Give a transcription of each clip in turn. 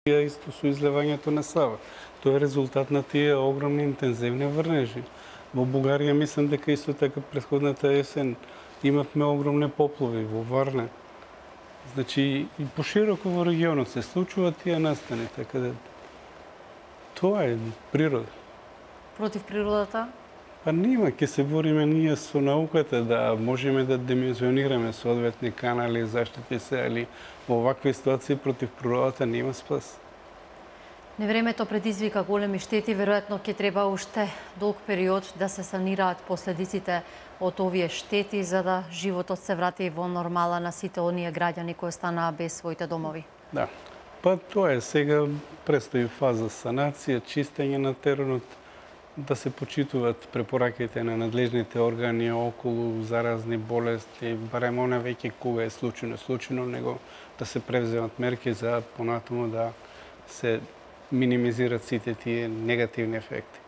Исто со излевањето на Сава. Тоа е резултат на тие огромни интензивни врнежи. Во Бугарија мислам дека исто така претходната есен имавме огромни поплави во Варна. Значи и пошироко во регионот се случуваат тие настани, така да тоа е природа. Против природата? Па нема, ќе се бориме ние со науката да можеме да димензионираме соодветни канали, заштити се, али во вакви ситуации против природата нема спас. Невремето предизвика големи штети, веројатно ќе треба уште долг период да се санираат последиците од овие штети за да животот се врати во нормала на сите оние граѓани кои останаа без своите домови. Да. Па тоа е, сега престои фаза санација, чистење на теренот, да се почитуваат препораките на надлежните органи околу заразни болести, барем она веќе кога е случајно, него да се превземат мерки за понатаму да се минимизират сите тие негативни ефекти.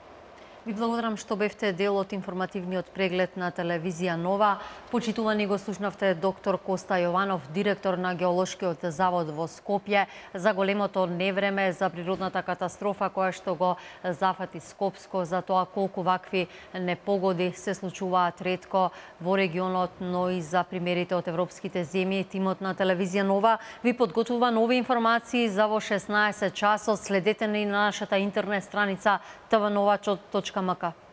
Ви благодарам што бевте дел од информативниот преглед на телевизија Нова. Почитувани го слушнавте доктор Коста Јованов, директор на Геолошкиот завод во Скопје, за големото невреме, за природната катастрофа која што го зафати Скопско, за тоа колку вакви непогоди се случуваат ретко во регионот, но и за примерите од европските земји. Тимот на телевизија Нова ви подготвува нови информации за во 16 часот. Следете ни на нашата интернет страница tvnova.mk.